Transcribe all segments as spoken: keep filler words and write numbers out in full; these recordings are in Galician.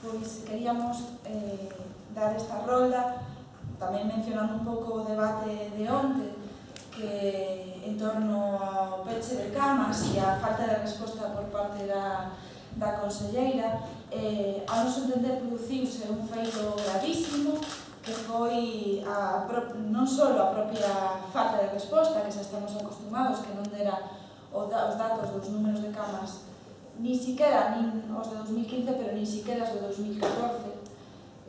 pois queríamos eh, dar esta rolda, tamén mencionando un pouco o debate de onte, que en torno ao peche de camas e a falta de resposta por parte da, da conselleira, eh, a noso entender produciuse un feito gravísimo, que foi a, non só a propia falta de resposta, que xa estamos acostumados, que non dera os datos dos números de camas ni siquiera, nin os de dos mil quince, pero ni siquiera os de dos mil catorce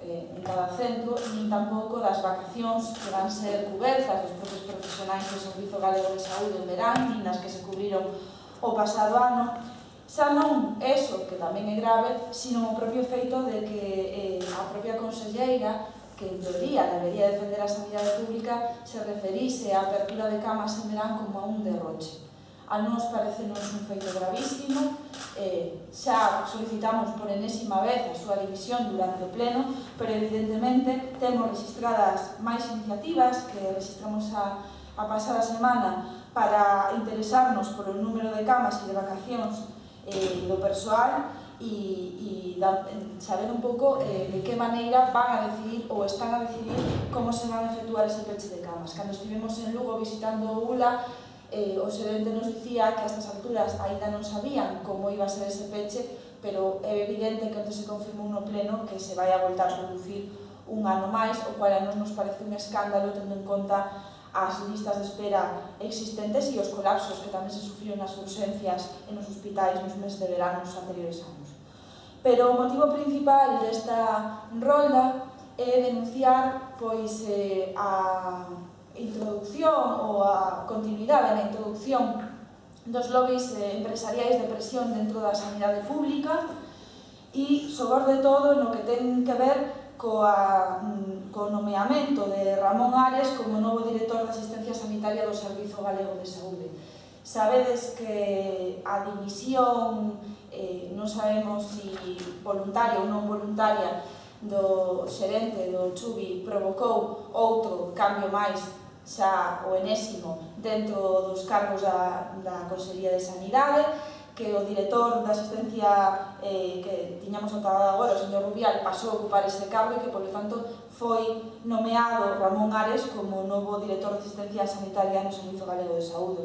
eh, en cada centro, nin tampouco das vacacións que van ser cubertas dos propios profesionais do Servizo Galego de Saúde en verán, nin das que se cubriron o pasado ano. Xa non eso, que tamén é grave, sino o propio feito de que eh, a propia conselleira, que en teoría debería defender a sanidade pública, se referise á apertura de camas en verán como a un derroche. A nos parecenos un feito gravísimo, eh, xa solicitamos por enésima vez a súa división durante o pleno, pero evidentemente temos registradas máis iniciativas que registramos a, a pasada semana para interesarnos polo número de camas e de vacacións eh, do persoal e, e da, saber un pouco eh, de que maneira van a decidir ou están a decidir como se van a efectuar ese peche de camas. Cando estivemos en Lugo visitando o U L A, Eh, o xerente nos dicía que a estas alturas ainda non sabían como iba a ser ese peche, pero é evidente que onde se confirmou no pleno que se vai a voltar a producir un ano máis, o cual a nos nos parece un escándalo tendo en conta as listas de espera existentes e os colapsos que tamén se sufriron nas urxencias e nos hospitais nos meses de verano nos anteriores anos. Pero o motivo principal desta rolda é denunciar pois eh, a introducción ou a continuidade na introducción dos lobbies empresariais de presión dentro da sanidade pública e, sobre todo, no que ten que ver coa, co nomeamento de Ramón Ares como novo director de asistencia sanitaria do Servizo Galego de Saúde. Sabedes que a dimisión, eh, non sabemos se voluntaria ou non voluntaria, do xerente do Chubi provocou outro cambio máis, xa o enésimo, dentro dos cargos da, da Consellería de Sanidade, que o director de asistencia eh, que tiñamos notado agora, o señor Rubial, pasou a ocupar ese cargo e que, polo tanto, foi nomeado Ramón Ares como novo director de asistencia sanitaria no Servizo Galego de Saúde.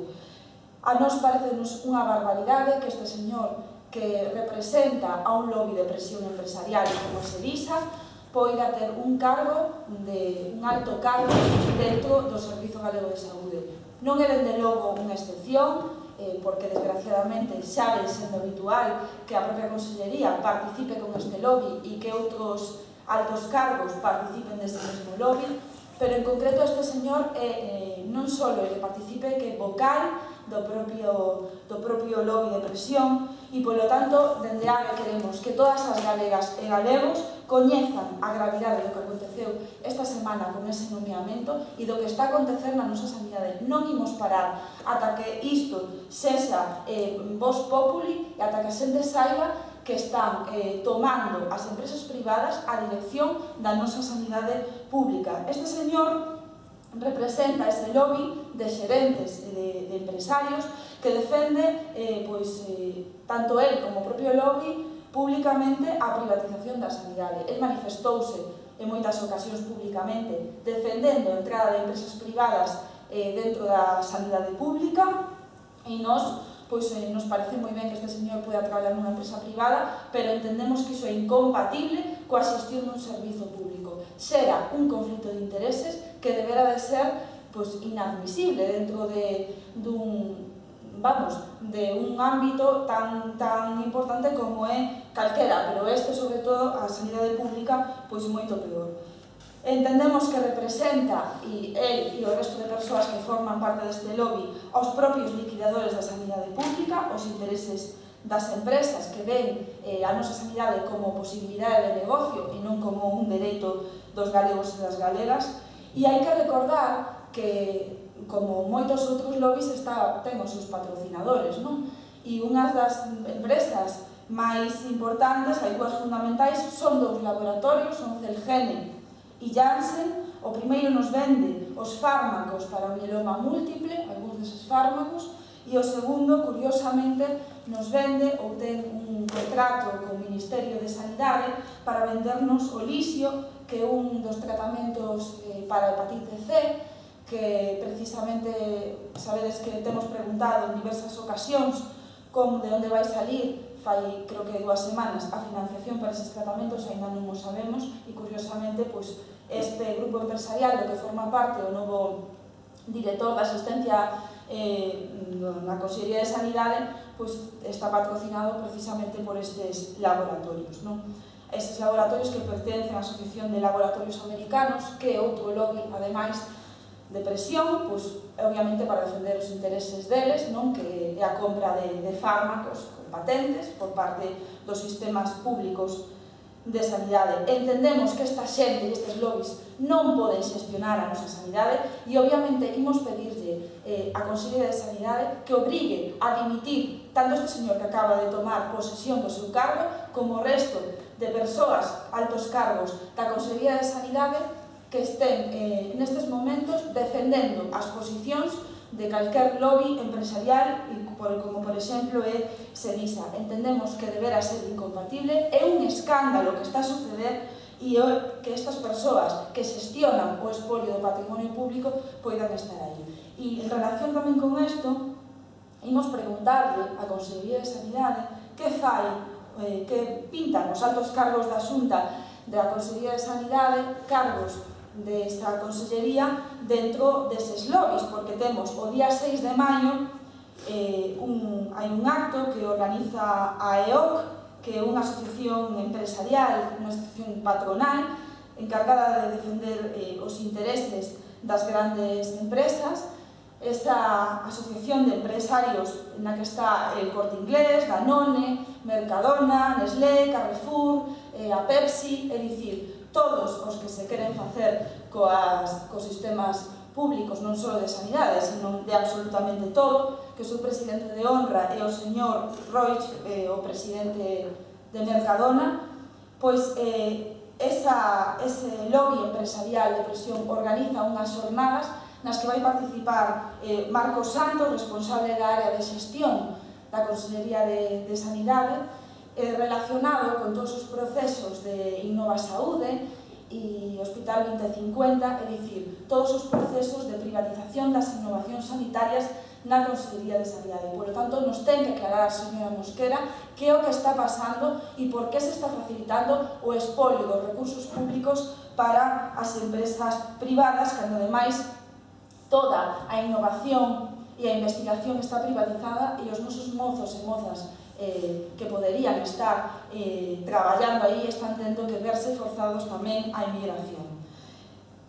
A nos parecenos unha barbaridade que este señor, que representa a un lobby de presión empresarial como se disa, poida ter un cargo, de un alto cargo dentro do Servizo Galego de Saúde. Non é, dende logo, unha excepción, eh, porque, desgraciadamente, xa ven sendo habitual que a propia Consellería participe con este lobby e que outros altos cargos participen deste mesmo lobby, pero, en concreto, este señor é, eh, non só é que participe, que é vocal do propio, do propio lobby de presión e, polo tanto, dende A G E queremos que todas as galegas e galegos coñezan a gravidade do que aconteceu esta semana con ese nomeamento e do que está a acontecer na nosa sanidade. Non imos parar ata que isto sexa eh, voz populi e ata que a xente saiba que están eh, tomando as empresas privadas a dirección da nosa sanidade pública. Este señor representa ese lobby de xerentes e de, de empresarios que defende eh, pois, eh, tanto el como o propio lobby públicamente a privatización da sanidade. El manifestouse en moitas ocasións públicamente defendendo a entrada de empresas privadas eh, dentro da sanidade pública e nos, pois, eh, nos parece moi ben que este señor poida traballar nunha empresa privada, pero entendemos que iso é incompatible coa xestión dun servizo público. Xera un conflito de intereses que debera de ser pois, inadmisible dentro de, dun, vamos, de un ámbito tan, tan importante como é calquera, pero este, sobre todo, a sanidade pública, pois moito peor. Entendemos que representa, e el e o resto de persoas que forman parte deste lobby, aos propios liquidadores da sanidade pública, os intereses das empresas que ven eh, a nosa sanidade como posibilidade de negocio e non como un dereito dos galegos e das galegas. E hai que recordar que, como moitos outros lobbies, está, ten os seus patrocinadores, non? E unhas das empresas máis importantes, hai dúas fundamentais, son dous laboratorios, son Celgene e Janssen. O primeiro nos vende os fármacos para o mieloma múltiple, algúns deses fármacos, e o segundo, curiosamente, nos vende ou ten un, contrato co Ministerio de Sanidade para vendernos o lixio, que é un dos tratamentos para a hepatite C, que precisamente sabedes que temos preguntado en diversas ocasións como de onde vai salir, fai creo que dúas semanas, a financiación para eses tratamentos, ainda non o sabemos, e curiosamente pois, este grupo empresarial do que forma parte o novo director da asistencia eh, na Consellería de Sanidade, pois, está patrocinado precisamente por estes laboratorios, non? Estes laboratorios que pertencen á Asociación de Laboratorios Americanos, que é outro lobby, ademais, de presión, pois, obviamente para defender os intereses deles, non? Que é a compra de, de fármacos con patentes por parte dos sistemas públicos de sanidade. Entendemos que esta xente e estes lobbies non poden xestionar a nosa sanidade e, obviamente, imos pedirlle eh, a Consellería de Sanidade que obrigue a dimitir tanto este señor que acaba de tomar posesión do seu cargo como o resto de persoas, altos cargos da Consellería de Sanidade que estén eh, nestes momentos defendendo as posicións de calquer lobby empresarial, como por exemplo é Senisa. Entendemos que debera ser incompatible, é un escándalo que está a suceder e que estas persoas que xestionan o espolio do patrimonio público poidan estar aí. E en relación tamén con isto, imos preguntarle á Consellería de Sanidade que fai, eh, que pintan os altos cargos da Xunta da Consellería de Sanidade, cargos desta Consellería dentro deses lobbies, porque temos o día seis de maio eh, un, hai un acto que organiza a E O C, que é unha asociación empresarial, unha asociación patronal encargada de defender eh, os intereses das grandes empresas. Esta asociación de empresarios na que está el Corte Inglés, Danone, Mercadona, Nestlé, Carrefour, eh, a Pepsi, é dicir, todos os que se queren facer coas, cos sistemas públicos, non só de sanidade, sino de absolutamente todo, que o seu presidente de honra é o señor Roig, eh, o presidente de Mercadona, pois eh, esa, ese lobby empresarial de presión organiza unhas jornadas nas que vai participar eh, Marcos Santos, responsable da área de xestión da Consellería de, de Sanidade, eh, relacionado con todos os procesos de Innova Saúde e Hospital vinte cincuenta, é dicir, todos os procesos de privatización das innovacións sanitarias na Consellería de Sanidade. Por lo tanto, nos ten que aclarar a señora Mosquera que é o que está pasando e por que se está facilitando o espolio dos recursos públicos para as empresas privadas, cando ademais toda a innovación e a investigación está privatizada e os nosos mozos e mozas eh, que poderían estar eh, traballando aí están tendo que verse forzados tamén á emigración.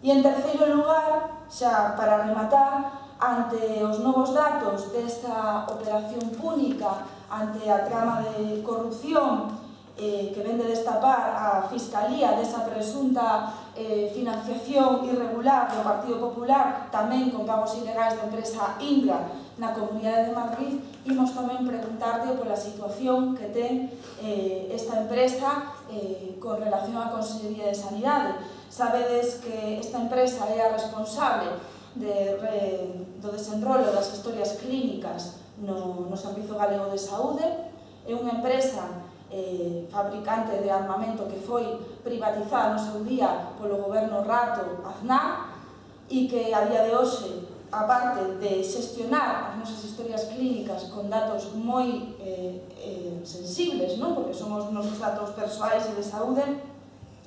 E en terceiro lugar, xa para rematar, ante os novos datos desta operación púnica, ante a trama de corrupción eh, que vende destapar a Fiscalía desa presunta eh, financiación irregular do Partido Popular, tamén con pagos ilegais da empresa Indra na Comunidade de Madrid, imos tamén preguntarle pola situación que ten eh, esta empresa eh, con relación á Consellería de Sanidade. Sabedes que esta empresa é a responsable de, re, do desenrolo das historias clínicas no, no Servizo Galego de Saúde, é unha empresa eh, fabricante de armamento que foi privatizada no seu día polo goberno Rato Aznar e que a día de hoxe, aparte de xestionar as nosas historias clínicas con datos moi eh, eh, sensibles, non? Porque son os nosos datos persoais e de saúde,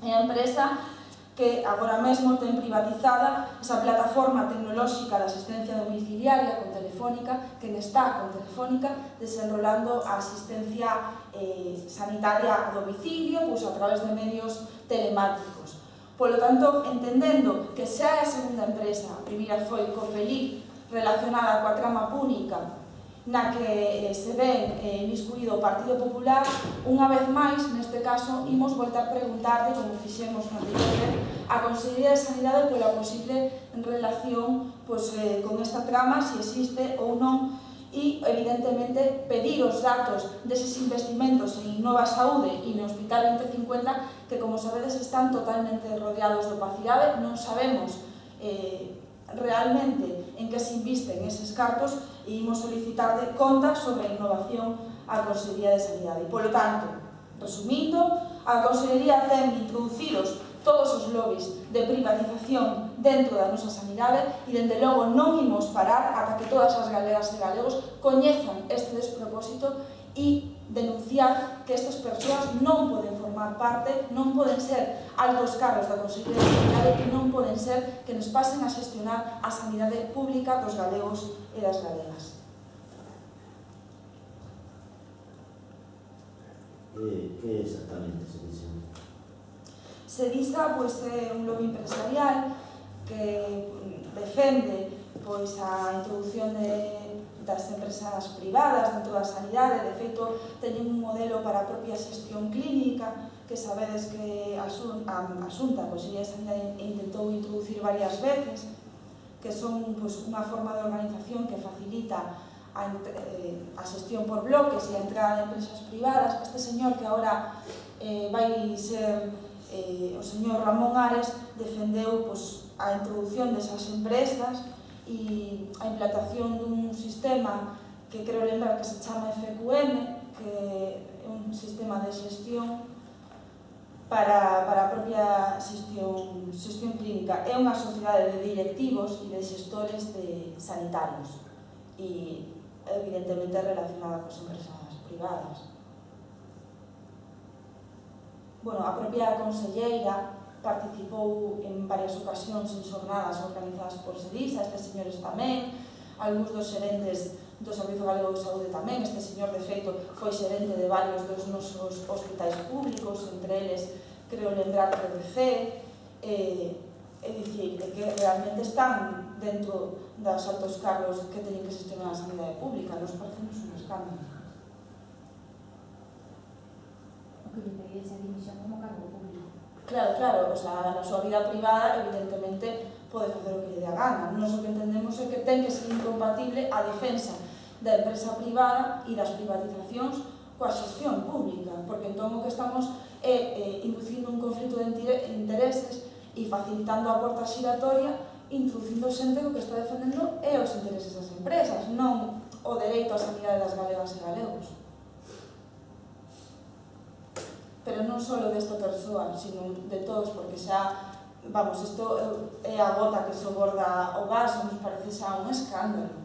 é a empresa que agora mesmo ten privatizada esa plataforma tecnolóxica de asistencia domiciliaria con Telefónica, que está con Telefónica desenrolando a asistencia eh, sanitaria a domicilio, pois a través de medios telemáticos. Por lo tanto, entendendo que xa é a segunda empresa, a primeira foi Cofelip, relacionada coa trama púnica, na que eh, se ven eh, miscuído o Partido Popular, unha vez máis, neste caso, imos voltar a preguntarle, como fixemos na anterior vez, a Consellería de Sanidade pola posible relación pues, eh, con esta trama, se existe ou non, e, evidentemente, pedir os datos deses investimentos en Innova Saúde e no Hospital vinte cincuenta, que, como sabedes, están totalmente rodeados de opacidade, non sabemos eh, realmente en que se invisten eses cartos e imos solicitar de contas sobre a innovación a Consellería de Sanidade. E, polo tanto, resumindo, a Consellería ten introducidos todos os lobbies de privatización dentro da nosa sanidade e, dende logo, non imos parar ata que todas as galegas e galegos coñezan este despropósito e denunciar que estas persoas non poden formar parte, non poden ser altos cargos da Consellería de Sanidade e non poden ser que nos pasen a xestionar a sanidade pública dos galegos e das galegas. Que exactamente se dice? Sedisa pois, é un lobby empresarial que defende pois, a introducción de, das empresas privadas dentro da sanidade. De feito, teñen un modelo para a propia xestión clínica que sabedes que a Xunta, a Consellería de Sanidade, intentou introducir varias veces, que son pois, unha forma de organización que facilita a, eh, a xestión por bloques e a entrada de empresas privadas. Este señor que agora eh, vai ser eh, o señor Ramón Ares defendeu pois, a introducción desas empresas e a implantación dun sistema que creo lembrar que se chama F Q M, que é un sistema de xestión para, para a propia xestión, xestión clínica. É unha sociedade de directivos e de xestores de sanitarios e evidentemente relacionada cos empresas privadas. Bueno, a propia conselleira participou en varias ocasións en xornadas organizadas por Sedisa, estes señores tamén, algúns dos xerentes do Servizo Galego de Saúde tamén. Este señor, de feito, foi xerente de varios dos nosos hospitais públicos, entre eles, creo lembrar que R C, eh, é dicir, que realmente están dentro dos altos cargos que teñen que xestionar a sanidade pública. Nos parecemos un escándalo. Que lle pedía esa dimisión como cargo público. Claro, claro, o sea, na súa vida privada, evidentemente, pode facer o que lle dé a gana. Nós o que entendemos é que ten que ser incompatible a defensa da empresa privada e das privatizacións coa xestión pública, porque entón o que estamos é eh, inducindo un conflito de intereses e facilitando a porta xiratoria, introducindo xente que o que está defendendo é os intereses das empresas, non o dereito á sanidade das galegas e galegos. Pero non só desta persoa, sino de todos, porque xa, vamos, isto é a gota que soborda o vaso, nos parece xa un escándalo.